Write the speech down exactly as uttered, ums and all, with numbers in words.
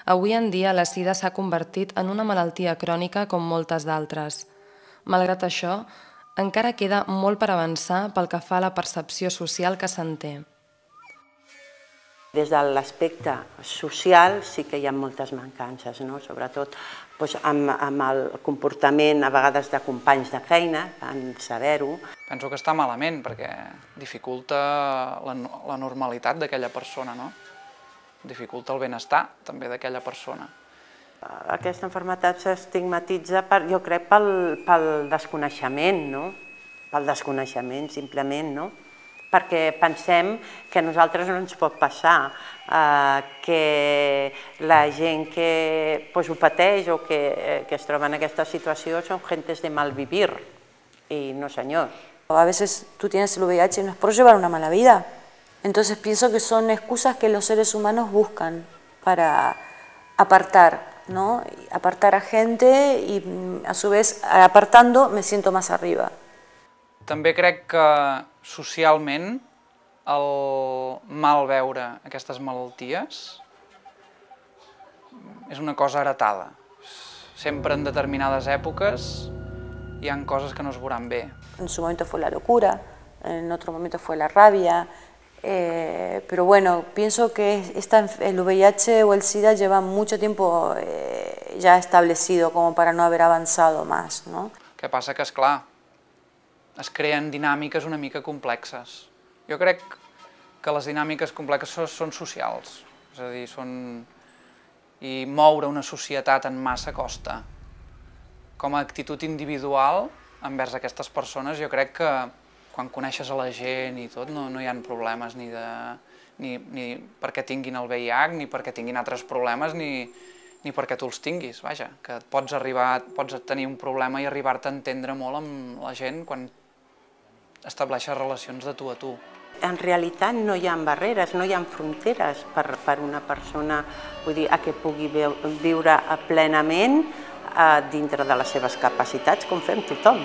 Avui en dia la sida s'ha convertit en una malaltia crònica com moltes d'altres. Malgrat això, encara queda molt per avançar pel que fa a la percepció social que se'n té. Des de l'aspecte social sí que hi ha moltes mancances, sobretot amb el comportament a vegades de companys de feina, en saber-ho. Penso que està malament perquè dificulta la normalitat d'aquella persona, dificulta el benestar també d'aquella persona. Aquesta malaltia s'estigmatitza, jo crec, pel desconeixement, pel desconeixement simplement, perquè pensem que a nosaltres no ens pot passar, que la gent que ho pateix o que es troba en aquesta situació són gentes de mal vivir, y no señor. A veces tú tienes el V I H y no es por llevar una mala vida, entonces pienso que son excusas que los seres humanos buscan para apartar, ¿no? Apartar a gente y a su vez apartando me siento más arriba. També crec que socialment el mal veure aquestes malalties és una cosa heretada. Sempre en determinades èpoques hi ha coses que no es veuran bé. En su momento fue la locura, en otro momento fue la rabia, eh, pero bueno, pienso que esta, el V I H o el SIDA lleva mucho tiempo eh, ya establecido como para no haber avanzado más, ¿no? Què passa? Que, esclar, es creen dinàmiques una mica complexes. Jo crec que les dinàmiques complexes són socials, és a dir, són... i moure una societat en massa costa. Com a actitud individual envers aquestes persones, jo crec que quan coneixes a la gent i tot no hi ha problemes ni perquè tinguin el V I H, ni perquè tinguin altres problemes, ni perquè tu els tinguis, vaja, que pots arribar, pots tenir un problema i arribar-te a entendre molt amb la gent quan estableixes relacions de tu a tu. En realitat no hi ha barreres, no hi ha fronteres per una persona que pugui viure plenament dintre de les seves capacitats, com fem tothom.